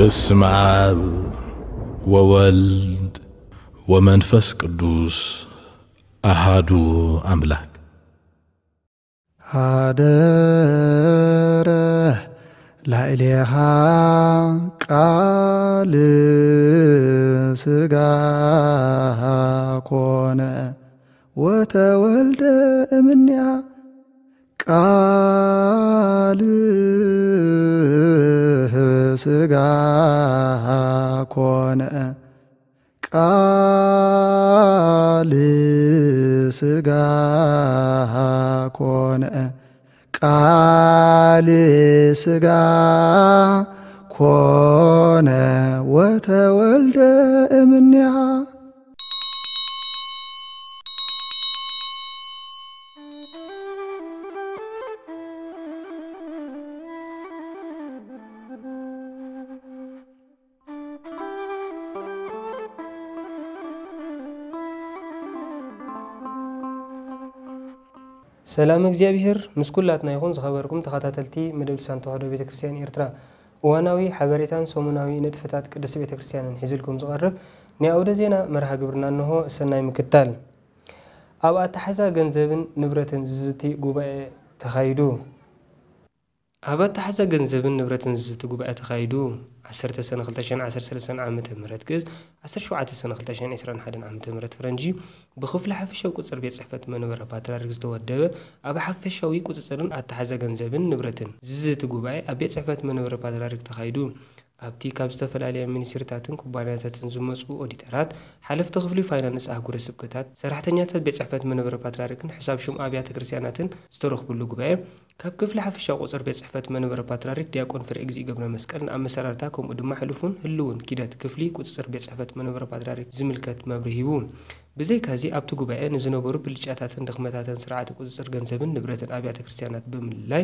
በስመ አብ ወወልድ ወመንፈስ ቅዱስ አሃዱ አምላክ። ሀደረ ላዕሌሃ ቃል ሥጋ ኮነ ወተወልደ እምኔሃ። ቃል ሥጋ ኮነ፣ ቃል ሥጋ ኮነ፣ ቃል ሥጋ ኮነ ወተወልደ እምኔሃ። ሰላም እግዚኣብሔር ምስ ኩላትና ይኹን። ዝኸበርኩም ተኸታተልቲ መደብ ልሳን ተዋህዶ ቤተ ክርስቲያን ኤርትራ፣ እዋናዊ ሓበሬታን ሰሙናዊ ንጥፈታት ቅድስት ቤተ ክርስቲያንን ሒዝልኩም ዝቐርብ ናይ ኣውደ ዜና መርሃ ግብርና እንሆ። ሰናይ ምክታል። ኣብ ኣተሓዛ ገንዘብን ንብረትን ዝዝቲ ጉባኤ ተኻይዱ። ኣብ ኣተሓዛ ገንዘብን ንብረትን ዝዝቲ ጉባኤ ተኻይዱ። ዓሰርተ ሰነ ክልተ ሽሕን ዓሰርተ ሰለስተን ዓመተ ምህረት ግእዝ፣ ዓሰርተ ሸውዓተ ሰነ ክልተ ሽሕን ዕስራን ሓደን ዓመተ ምህረት ፈረንጂ፣ ብክፍሊ ሓፈሻዊ ቁጽር ቤት ጽሕፈት መንበረ ፓትርያርክ ዝተወደበ፣ ኣብ ሓፈሻዊ ቁጽጽርን ኣተሓዛ ገንዘብን ንብረትን ዝዝቲ ጉባኤ ኣብ ቤት ጽሕፈት መንበረ ፓትርያርክ ተኻይዱ። ኣብቲ ካብ ዝተፈላለያ ሚኒስትሪታትን ኩባንያታትን ዝመጹ ኦዲተራት፣ ሓለፍቲ ክፍሊ ፋይናንስ ኣህጉረ ስብከታት፣ ሰራሕተኛታት ቤት ጽሕፈት መንበረ ፓትርያርክን ሕሳብ ሹም ኣብያተ ክርስቲያናትን ዝተረኽብሉ ጉባኤ፣ ካብ ክፍሊ ሓፈሻዊ ቁጽር ቤት ጽሕፈት መንበረ ፓትርያርክ ዲያቆን ፍሬ እግዚእ ገብረ መስቀል ንኣመሰራርታ ከምኡ ድማ ሕሉፉን ህልውን ኪደት ክፍሊ ቁጽጽር ቤት ጽሕፈት መንበረ ፓትርያርክ ዝምልከት መብርሂ ሂቡ። ብዘይካዚ ኣብቲ ጉባኤ ንዝነበሩ ብልጫታትን ድኽመታትን ስርዓተ ቁጽጽር ገንዘብን ንብረትን ኣብያተ ክርስቲያናት ብምልላይ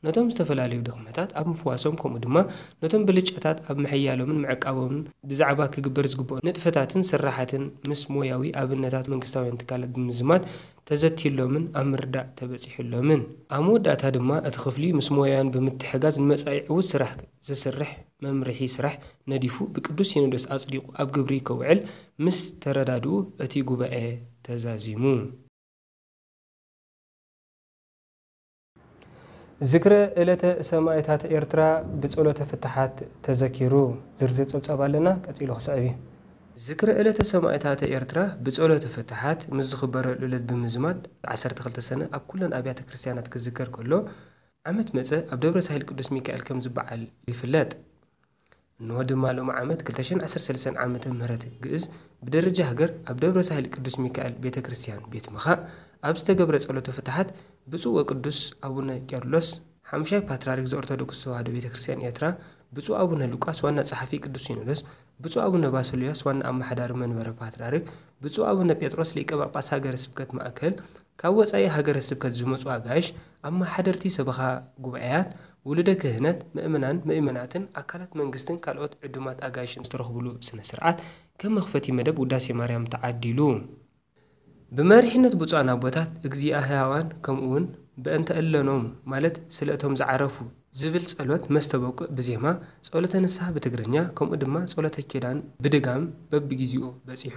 ነቶም ዝተፈላለዩ ድኽመታት ኣብ ምፍዋሶም ከምኡ ድማ ነቶም ብልጫታት ኣብ ምሕያሎምን ምዕቃቦምን ብዛዕባ ክግበር ዝግብኦ ንጥፈታትን ስራሓትን ምስ ሞያዊ ኣብነታት መንግስታውያን ትካላት ብምዝማድ ተዘትዩሎምን ኣብ ምርዳእ ተበጺሑሎምን። ኣብ መወዳእታ ድማ እቲ ክፍሊ ምስ ሞያውያን ብምትሕጋዝ ንመጻኢ ዕዉት ስራሕ ዘስርሕ መምርሒ ስራሕ ነዲፉ ብቅዱስ ሲኖዶስ ኣጽዲቑ ኣብ ግብሪ ከውዕል ምስ ተረዳድኡ እቲ ጉባኤ ተዛዚሙ። ዝክረ ዕለተ ሰማእታት ኤርትራ ብጸሎተ ፍትሓት ተዘኪሩ። ዝርዝር ጸብጻብ ኣለና፣ ቀጺሉ ክስዕብ እዩ። ዝክረ ዕለተ ሰማእታት ኤርትራ ብጸሎተ ፍትሓት ምስ ዝኽበረሉ ዕለት ብምዝማድ ዓሰርተ ክልተ ሰነ ኣብ ኩለን ኣብያተ ክርስቲያናት ክዝከር ከሎ፣ ዓመት መጸ ኣብ ደብረ ሳህል ቅዱስ ሚካኤል ከም ዝበዓል ይፍለጥ። እንሆ ድማ ሎሚ ዓመት ክልተ ሽሕን ዓሰርተ ሰለስተን ዓመተ ምህረት ግእዝ ብደረጃ ሃገር ኣብ ደብረ ሳህል ቅዱስ ሚካኤል ቤተ ክርስቲያን ቤት ምኻእ ኣብ ዝተገብረ ጸሎተ ፍትሓት ብፁዕ ወቅዱስ ኣቡነ ቄርሎስ ሓምሻይ ፓትርያርክ ዘኦርቶዶክስ ተዋህዶ ቤተ ክርስቲያን ኤርትራ፣ ብፁዕ ኣቡነ ሉቃስ ዋና ጸሓፊ ቅዱስ ሲኖዶስ፣ ብፁዕ ኣቡነ ባስልዮስ ዋና ኣመሓዳሪ መንበረ ፓትርያርክ፣ ብፁዕ ኣቡነ ጴጥሮስ ሊቀ ጳጳስ ሃገረ ስብከት ማእከል፣ ካብ ወጻኢ ሃገረ ስብከት ዝመጹ ኣጋይሽ፣ ኣመሓደርቲ ሰበኻ ጉባኤያት፣ ውሉደ ክህነት፣ ምእመናን፣ ምእመናትን ኣካላት መንግስትን ካልኦት ዕዱማት ኣጋይሽን ዝተረኽብሉ ስነ ስርዓት ከም መኽፈቲ መደብ ውዳሴ ማርያም ተዓዲሉ። ብመሪሕነት ብፁዓን ኣቦታት፣ እግዚኣ ሕያዋን ከምኡውን በእንተ እለኖም ማለት ስለ እቶም ዝዓረፉ ዝብል ጸሎት መስተበቁዕ ብዜማ፣ ጸሎተ ንስሓ ብትግርኛ ከምኡ ድማ ጸሎተ ኪዳን ብድጋም በብጊዜኡ በጺሑ።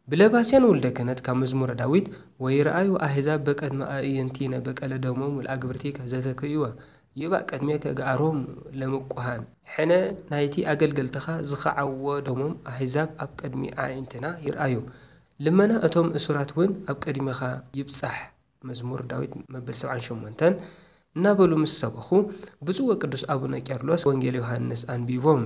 ብለባስያን ወልደ ክህነት ካብ መዝሙረ ዳዊት፣ ወይረኣዩ ኣሕዛብ በቀድመ ኣዕይንቲነ በቀለ ደሞሙ ለአግብርቲከ ዘተክእወ፣ ይባእ ቅድሜከ ገኣሮሙ ለምቁሃን። ሕነ ናይቲ ኣገልገልትኻ ዝኸዓዎ ደሞም ኣሕዛብ ኣብ ቅድሚ ኣዕይንትና ይርኣዩ። ልመና እቶም እሱራት እውን ኣብ ቅድሜኻ ይብጻሕ። መዝሙር ዳዊት መበል ሰብዓን ሸሞንተን እናበሉ ምስ ሰበኹ፣ ብፁዕ ወቅዱስ ኣቡነ ቄርሎስ ወንጌል ዮሃንስ ኣንቢቦም።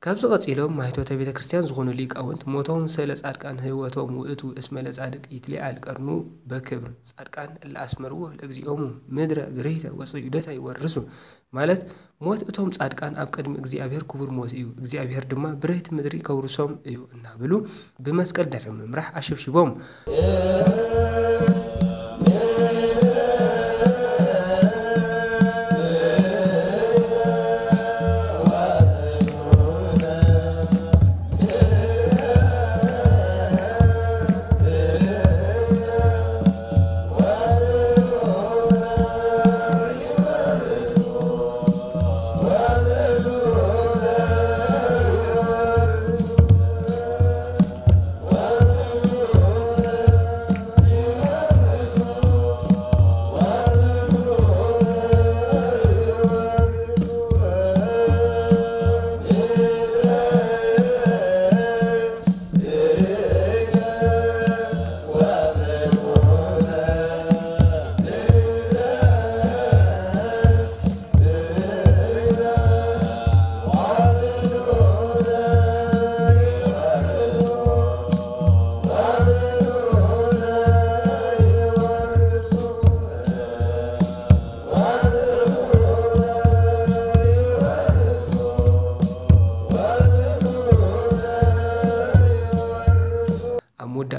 ካብዚ ቀጺሎም ማይቶተ ቤተ ክርስቲያን ዝኾኑ ሊቃውንት፣ ሞቶም ሰለ ጻድቃን ህይወቶም ውእቱ እስመ ለጻድቅ ይትሊዓል ቀርኑ በክብር፣ ጻድቃን እለ አስመርዎ ለእግዚኦሙ ምድረ ብርሂተ ወጽዩደተ ይወርሱ፣ ማለት ሞት እቶም ጻድቃን ኣብ ቅድሚ እግዚኣብሔር ክቡር ሞት እዩ፣ እግዚኣብሔር ድማ ብርህቲ ምድሪ ከውርሶም እዩ እናበሉ ብመስቀል ድሕሪ ምምራሕ ኣሸብሽቦም።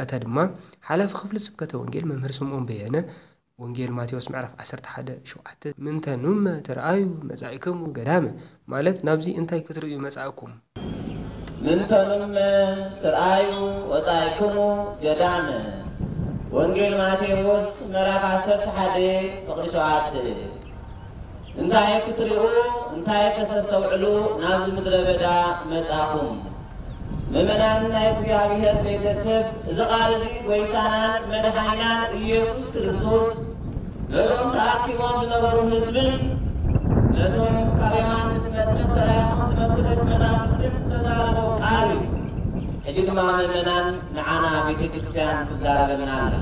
እታ ድማ ሓላፊ ክፍሊ ስብከተ ወንጌል መምህር ስምዖን በየነ፣ ወንጌል ማቴዎስ ምዕራፍ ዓሰርተ ሓደ ሸውዓተ፣ ምንተ ኑመ ትርኣዩ መጻኢክሙ ገዳመ፣ ማለት ናብዚ እንታይ ክትርእዩ መጻእኩም? ምንተ ኑመ ትርኣዩ ወጻኢክሙ ገዳመ። ወንጌል ማቴዎስ ምዕራፍ ዓሰርተ ሓደ ፍቕዲ ሸውዓተ። እንታይ ክትሪኡ እንታይ ከተስተውዕሉ ናብዚ ምድረ በዳ መጻኹም? ምእመናን ናይ እግዚኣብሔር ቤተሰብ፣ እዚ ቃል እዚ ጎይታናን መድሓኒናን ኢየሱስ ክርስቶስ ነቶም ተኣኪቦም ዝነበሩ ህዝብን ነቶም ካብ ዮሃንስ መጥምቕ ተላኢኾም ዝመጹ ደቂ መዛሙርትን ዝተዛረቦ ቃል እዩ። ሕጂ ድማ ምእመናን ንዓና ቤተ ክርስቲያን ትዛረበና ኣላ።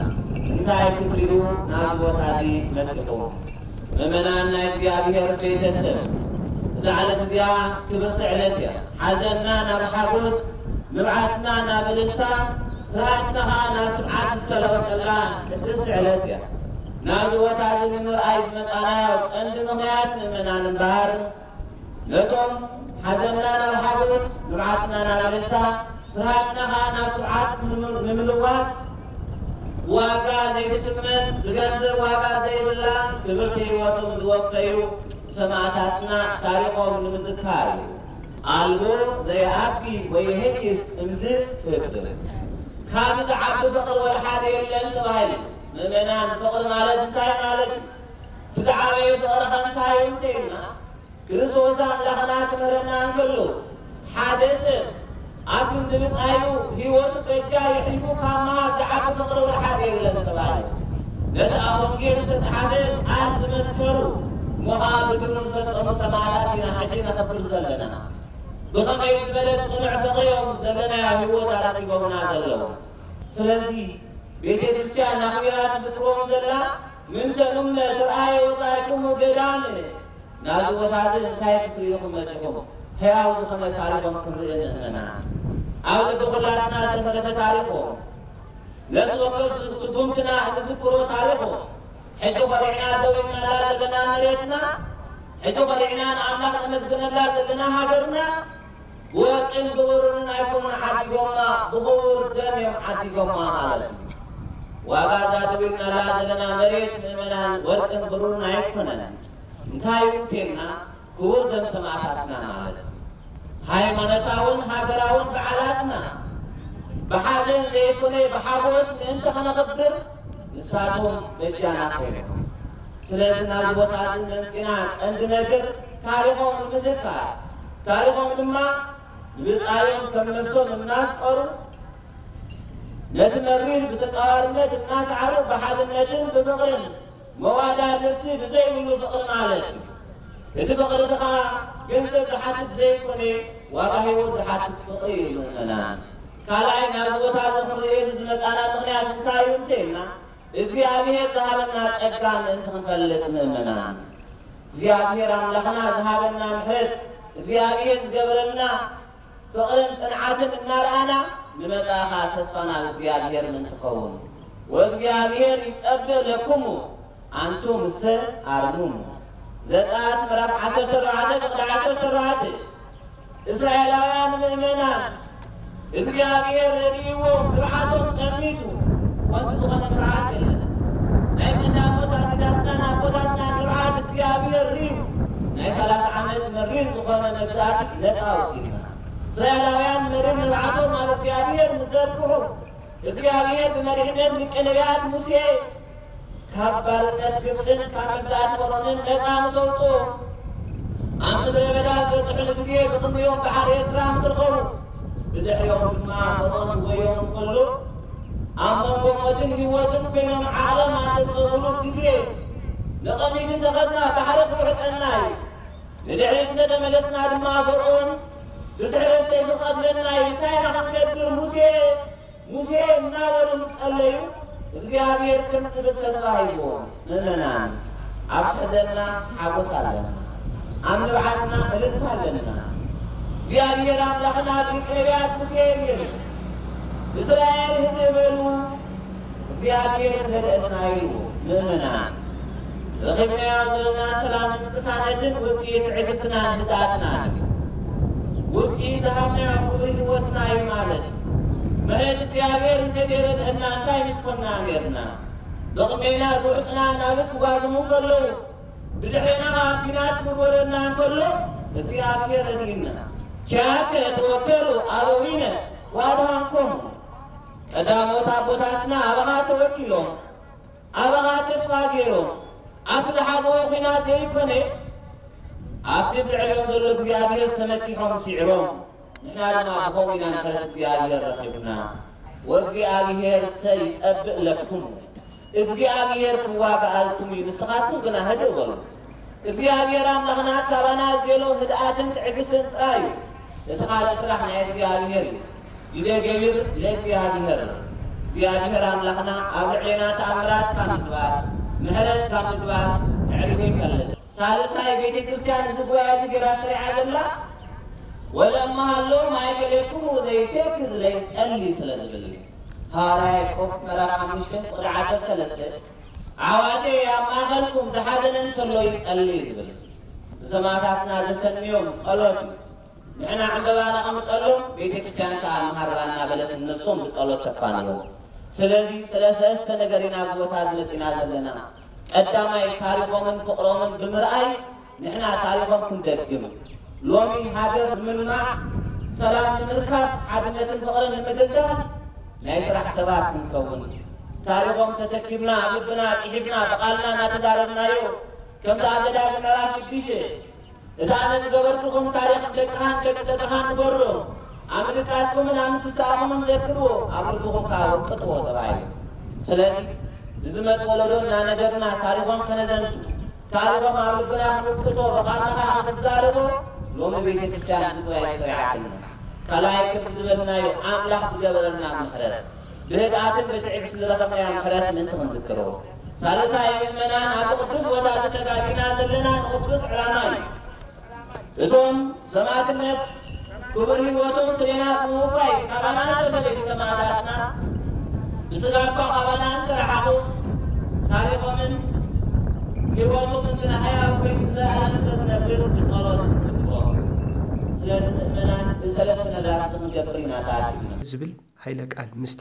እንታይ ክትሪኡ ናብዚ ቦታ እዚ መጺኹም? ምእመናን ናይ እግዚኣብሔር ቤተሰብ፣ እዛ ዕለት እዚኣ ክብርቲ ዕለት እያ። ሓዘንና ናብ ሓጎስ፣ ንብዓትና ናብ እልልታ፣ ፍርሃትና ኸዓ ናብ ትብዓት ዝተለወጠላ ቅድስቲ ዕለት እያ። ናብዚ ቦታ እዚ ንምርኣይ ዝመጻናዮ ቀንዲ ምኽንያት ምእመናን እምበኣር፣ ነቶም ሓዘንና ናብ ሓጎስ፣ ንብዓትና ናብ እልልታ፣ ፍርሃትና ኸዓ ናብ ትብዓት ንምልዋጥ ዋጋ ዘይትትመን ብገንዘብ ዋጋ ዘይብላ ክብርቲ ህይወቶም ዝወፈዩ ሰማእታትና ታሪኾም ንምዝካር እዩ። ኣልቦ ዘይኣቢ ወይህይስ እምዝ ፍቅር፣ ካብ ዝዓቢ ፍቅሪ ወላ ሓደ የለን ተባሂሉ። ምእመናን፣ ፍቅሪ ማለት እንታይ ማለት እዩ? እቲ ዝዓበየ ፍቅሪ ከ እንታይ እዩ እንተኢልና፣ ክርስቶስ ኣምላኽና ክምህረና እንከሎ፣ ሓደ ሰብ ኣብ ክንዲ ብጻዩ ህይወቱ በጃ የሕሊፉ ካብ ምሃብ ዝዓቢ ፍቕሪ ወላ ሓደ የለን ተባሂሉ። ነቲ ኣብ ወንጌል ዝተጻሕፈ ቃል ዝመስከሩ እሞ ኸኣ ብግብሪ ዝፈጸሙ ሰማዕታት ኢና ሕጂ ነኽብር ዘለና። ብኸመይ ዝበለ ጽኑዕ ፍቕሪ እዮም ዘለናዮ ህይወት ኣረኪቦምና ዘለዉ። ስለዚ ቤተ ክርስቲያን ኣኽቢራ ትዝክሮም ዘላ ምንተ ኑመ ትርኣየ ወጻእክሙ ገዳም ናብዚ ቦታ እዚ እንታይ ክትርእዩ ኢኹም መጺኹም? ህያው ዝኾነ ታሪኾም ክንርኢ ንእመና። ኣብ ልቢ ኩላትና ዝተሰረተ ታሪኾም፣ ነፍሲ ወከፍ ስጉምትና እንዝክሮ ታሪኾም፣ ሕጂ ኮሪዕና ደው ኢልናላ ዘለና መሬትና፣ ሕጂ ኮሪዕና ንኣምላኽ ነመስግነላ ዘለና ሃገርና፣ ብወርቅን ብብሩርን ኣይኮኑን ዓዲጎማ፣ ብኽቡር ደም እዮም ዓዲጎማ ማለት እዩ። ዋጋ እዛ ደው ኢልናላ ዘለና መሬት ምእመናን ወርቅን ብሩርን ኣይኮነን። እንታይ እዩ እንተልና ክቡር ደም ሰማእታትና ማለት እዩ። ሃይማኖታውን ሃገራውን በዓላትና ብሓዘን ዘይኮነ ብሓጎስ ምእንቲ ክነኽብር ንሳቶም በጃና ኮይኖም። ስለዚ ናብዚ ቦታ እዚ መምፂና ቀንዲ ነገር ታሪኾም ንምዝካር፣ ታሪኾም ድማ ንብፃዮም ከም ነፍሶም እናፍቀሩ ነቲ መሪር ብተጻዋርነት እናሰዓሩ ብሓድነትን ብፍቕርን መዋዳድርቲ ብዘይብሉ ፍቕሪ ማለት እዩ። እቲ ፍቕሪ እቲ ኸዓ ገንዘብ ዝሓትት ዘይኮነ ዋጋ ህይወት ዝሓትት ፍቕሪ እዩ ምእመናን። ካልኣይ ናብዚ ቦታ እዚ ክንርእየሉ ዝመጻና ምኽንያት እንታይ እዩ እንተኢልና እግዚኣብሔር ዝሃበና ጸጋ ምእንቲ ክንፈልጥ ምእመናን። እግዚኣብሔር ኣምላኽና ዝሃበና ምሕረት እግዚኣብሔር ዝገበረልና ፍቕርን ጽንዓትን እናረኣና ንመጻኢ ኸዓ ተስፋ ናብ እግዚኣብሔር ምእንቲ ኸውን። ወእግዚኣብሔር ይጸብእ ለክሙ ኣንቱምሰ ኣርምሙ። ዘጸኣት ምዕራፍ ዓሰርተ ኣርባዕተ ፍቕዲ ዓሰርተ ኣርባዕተ። እስራኤላውያን ምእመናን እግዚኣብሔር ረድእዎም ንብዓቶም ጠሚቱ ኮንቲ ዝኾነ ንብዓት የለን። ናይ ቀዳሞት ኣዴታትናን ኣቦታትናን ንብዓት እግዚኣብሔር ርእዩ ናይ ሰላሳ ዓመት መሪር ዝኾነ መግዛእቲ ነፃ ኣውፂኡና። እስራኤላውያን መሪር ንብዓቶም ናብ እግዚኣብሔር ንዘርግሑ እግዚኣብሔር ብመሪሕነት ሊቀ ነቢያት ሙሴ ካብ ባርነት ግብፅን ካብ መግዛእቲ ፈርዖንን ነፃ ምስ ኣውፅኡ ኣብ ምድረ በዳ ዝበፅሑሉ ግዜ ብቕድሚኦም ባሕሪ ኤርትራ ምስ ረኸቡ ብድሕሪኦም ድማ ፈርዖን ክጎዮም እንከሎ ኣብ መንጎ ሞትን ህይወትን ኮይኖም ዓቕሎም ኣብ ዘፅበብሉ ግዜ ንቐሚት እንተኸድና ባሕሪ ክውሕጠና እዩ። ንድሕሪት እንተተመለስና ድማ ፈርዖን ብስሕረት ሰይፊ ክቐትለና እዩ። እንታይ ኢና ክንገብር? ሙሴ ሙሴ እናበሉ ምስ ጸለዩ እግዚኣብሔር ከምጽእ ተስፋ ሂብዎም። ምእመናን ኣብ ሐዘንና ሓጎስ ኣለና፣ ኣብ ንብዓትና እልልታ ኣለና። እግዚኣብሔር ኣምላኽና ብሊቀ ነቢያት ሙሴ ይብል እስራኤል ህድእ በሉ እግዚኣብሔር ክረድአና ኢሉ። ምእመናን ረኺብናዮ ዘለና ሰላምን ቅሳነትን ውፅኢት ትዕግስትናን ህድኣትናን እዩ። ውፅኢት ዝሃብናዮ ክብሪ ህይወትና እዩ ማለት እዩ። ምሕረት እግዚኣብሔር እንተዘይረድአና እንታይ ምስ ኮንና ነርና? ብቕድሜና ዝውሕጥና ናብስ ክጓዝሙ ከለዉ፣ ብድሕሬና ኸዓ ኲናት ክወረና እንከሎ፣ እግዚኣብሔር ረድእና። ኪያከ ተወከሉ ኣበዊነ ወአድኃንኮሙ። ቀዳሞት ኣቦታትና ኣባኻ ተወኪሎም፣ ኣባኻ ተስፋ ገይሮም፣ ኣብቲ ዝሓዝዎ ኲናት ዘይኮነ፣ ኣብቲ ብልዕሊኦም ዘሎ እግዚኣብሔር ተመኪሖም ስዒሮም። ንሕና ድማ ብኸምኡ ኢና ምሕረት እግዚኣብሔር ረኺብና። "ወእግዚኣብሔር ሰይጸብእ ለክሙ"፣ እግዚኣብሔር ክዋጋኣልኩም እዩ፣ ንስኻትኩም ግና ህድእ በሉ። እግዚኣብሔር ኣምላኽና ካባና ዝደልዮ ህድኣትን ትዕግስትን ጥራይ እዩ። እቲ ካልእ ስራሕ ናይ እግዚኣብሔር እዩ። ግዜ ገቢር ለእግዚኣብሔር። እግዚኣብሔር ኣምላኽና ኣብ ልዕሌና ተኣምራት ካብ ምግባር፣ ምሕረት ካብ ምግባር ኣዕሪጉ ይፈልጥ። ሳልሳይ ቤተ ክርስቲያን እዚ ጉባኤ እዚ ገይራ ሰሪዓ ዘላ፣ "ወለመሃሎ ማእከሌክሙ ዘይቴክዝ ለይጸሊ" ስለ ዝብል እዩ። ሃዋርያ ያዕቆብ ምዕራፍ ሓሙሽተ ቁጥሪ ዓሰርተ ሰለስተ፣ "ኣሕዋተይ ኣብ ማእከልኩም ዝሓዘነ እንተሎ ይጸሊ" ዝብል። ንሰማዕታትና ዘሰንዮም ጸሎት እዩ። ንሕና ዕምበባ ነቐምጠሎም፣ ቤተ ክርስቲያን ከኣ መሃርባ እናበለት ንነብሶም ብጸሎት ተፋንዮም። ስለዚ ስለ ሰለስተ ነገር ኢና ኣብዚ ቦታ እዚ መጺና ዘለና። ቀዳማይ ታሪኾምን ፍቕሮምን ብምርኣይ ንሕና ታሪኾም ክንደግም። ሎሚ ሃገር ንምልማዕ፣ ሰላም ንምርካብ፣ ሓድነትን ፍቕርን ንምድልዳል ናይ ስራሕ ሰባት ክንከውን። ታሪኾም ተሰኪምና፣ ኣብ ልብና ጽሒፍና፣ ብቓልና እናተዛረብናዮ፣ ከምቲ ኣብ ዘዳግም ምዕራፍ ሽዱሽተ፣ "እቲ ኣነ ዝገበርኩኹም ታሪኽ ደቅኻን ደቂ ደቅኻን ንገሮ፣ ኣብ ምድቃስኩምን ኣብ ምትንሳእኹምን ዘክርዎ፣ ኣብ ልብኹም ከኣ ወቅጥዎ" ተባሂሉ። ስለዚ፣ ንዝመጽእ ወለዶ እናነገርና ታሪኾም ከነዘንቱ፣ ታሪኾም ኣብ ልብና ክንውቅጦ፣ ብቓልና ከኣ ክንዛረቦ፣ ሎሚ ቤተ ክርስቲያን እዚ ጉባኤ ሰሪዓትና። ካልኣይ፣ ከምቲ ዝበልናዮ፣ ኣምላኽ ዝገበረልና ምሕረት፣ ብህድኣትን ብትዕግስቲ ዝረኸብናዮ ምሕረት ምእንቲ ክንዝክሮ። ሳልሳይ፣ ምእመናን፣ ኣብዚ ቅዱስ ቦታ እዚ ተጋቢና ዘለና ንቅዱስ ዕላማ እዩ። እቶም ሰማዕትነት ክቡር ህይወቶም ስሌና ብምውፋይ ካባና ዝተፈለዩ ሰማዕታትና ብስጋ እኳ ካባና እንተረሓቑ፣ ታሪኾምን ህይወቶምን ግን ሕያው ኮይኑ ንዘለኣለም ስለ ዝነብር ብጸሎት ንዝክሮም። ስለዚ ምእመናን፣ እዚ ሰለስተ ነገራት እዚ ክንገብር ኢና ተኣኪብና። ዝብል ኃይለ ቃል ምስቲ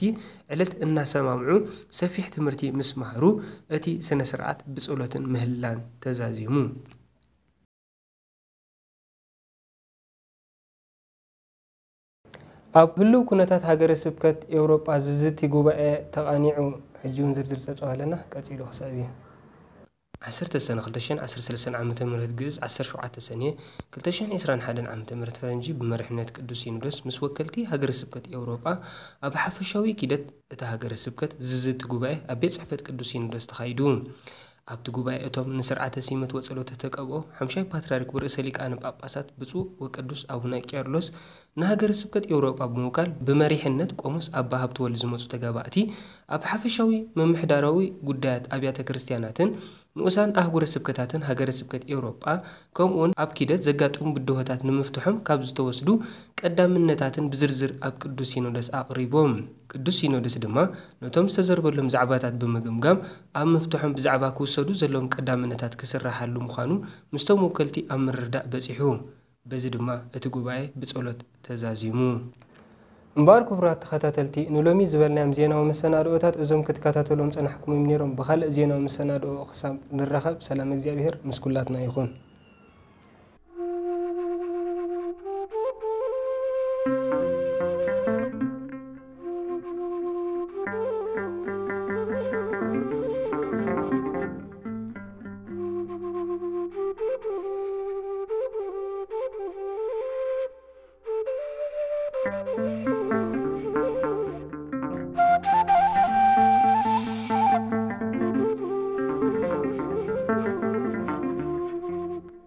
ዕለት እናሰማምዑ ሰፊሕ ትምህርቲ ምስ መሃሩ፣ እቲ ስነ ስርዓት ብጸሎትን ምህላን ተዛዚሙ። ኣብ ህሉው ኩነታት ሃገረ ስብከት ኤውሮጳ ዝዝቲ ጉባኤ ተቓኒዑ። ሕጂ እውን ዝርዝር ጸብጻብ ኣለና፣ ቀጺሉ ክስዕብ እዩ። ዓሰርተ ሰነ ክልተ ሽሕን ዓሰርተ ሰለስተን ዓመተ ምህረት ግእዝ፣ ዓሰርተ ሸውዓተ ሰነ ክልተ ሽሕን ዕስራን ሓደን ዓመተ ምህረት ፈረንጂ፣ ብመሪሕነት ቅዱስ ሲኖዶስ ምስ ወከልቲ ሃገረ ስብከት ኤውሮጳ ኣብ ሓፈሻዊ ኪደት እታ ሃገረ ስብከት ዝዝቲ ጉባኤ ኣብ ቤት ጽሕፈት ቅዱስ ሲኖዶስ ተኻይዱ። ኣብቲ ጉባኤ እቶም ንስርዓተ ሲመት ወጸሎተ ተቀብኦ ሓምሻይ ፓትርያርክ ወርእሰ ሊቃነ ጳጳሳት ብፁዕ ወቅዱስ ኣቡነ ቄርሎስ ንሃገረ ስብከት ኤውሮጳ ብምውካል ብመሪሕነት ቆሞስ ኣባ ሃብተወልድ ዝመጹ ተጋባእቲ ኣብ ሓፈሻዊ ምምሕዳራዊ ጉዳያት ኣብያተ ክርስቲያናትን ንኡሳን ኣህጉረ ስብከታትን ሃገረ ስብከት ኤውሮጳ ከምኡውን ኣብ ኪደት ዘጋጠሙ ብድሆታት ንምፍትሖም ካብ ዝተወስዱ ቀዳምነታትን ብዝርዝር ኣብ ቅዱስ ሲኖዶስ ኣቕሪቦም። ቅዱስ ሲኖዶስ ድማ ነቶም ዝተዘርበሎም ዛዕባታት ብምግምጋም ኣብ ምፍትሖም ብዛዕባ ክውሰዱ ዘለዎም ቀዳምነታት ክስራሓሉ ምዃኑ ምስቶም ወከልቲ ኣብ ምርድዳእ በጺሑ። በዚ ድማ እቲ ጉባኤ ብጸሎት ተዛዚሙ። እምበኣር ክቡራት ተኸታተልቲ፣ ንሎሚ ዝበልናዮም ዜናዊ መሰናድኦታት እዞም ክትከታተሎም ጸናሕኩም እዮም ነይሮም። ብኻልእ ዜናዊ መሰናድኦ ክሳብ ንራኸብ፣ ሰላም እግዚኣብሔር ምስ ኩላትና ይኹን።